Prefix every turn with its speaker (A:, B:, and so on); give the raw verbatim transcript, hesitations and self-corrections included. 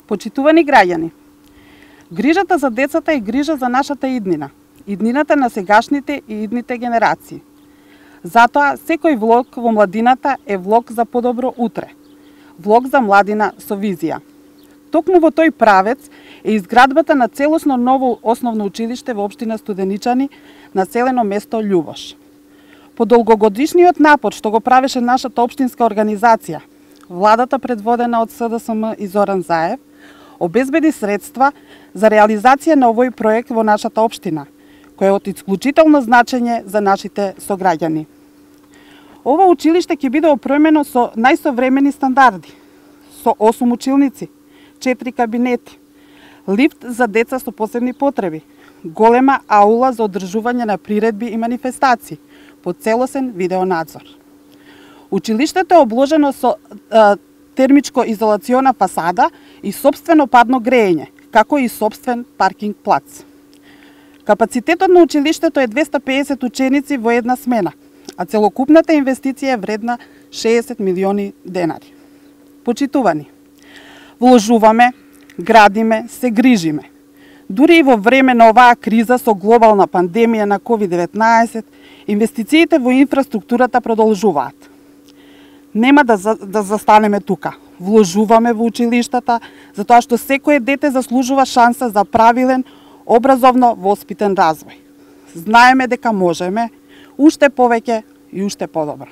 A: Почитувани граѓани, грижата за децата е грижа за нашата иднина, иднината на сегашните и идните генерации. Затоа, секој влог во младината е влог за подобро утре, влог за младина со визија. Токму во тој правец е изградбата на целосно ново основно училиште во општина Студеничани, населено место Љубош. По долгогодишниот напор што го правеше нашата општинска организација, владата предводена од С Д С М и Зоран Заев, обезбеди средства за реализација на овој проект во нашата општина, кој е од исклучително значење за нашите сограѓани. Ова училиште ќе биде опремено со најсовремени стандарди, со осум училници, четири кабинети, лифт за деца со посебни потреби, голема аула за одржување на приредби и манифестации, по целосен видеонадзор. Училиштето е обложено со а, термичко-изолациона фасада и собствено парно грејење, како и собствен паркинг плац. Капацитетот на училиштето е двесте пеесет ученици во една смена, а целокупната инвестиција е вредна шеесет милиони денари. Почитувани, вложуваме, градиме, се грижиме. Дури и во време на оваа криза со глобална пандемија на ковид деветнаесет, инвестициите во инфраструктурата продолжуваат. Нема да, за, да застанеме тука. Вложуваме во училиштата, затоа што секое дете заслужува шанса за правилен, образовно воспитен развој. Знаеме дека можеме, уште повеќе и уште подобро.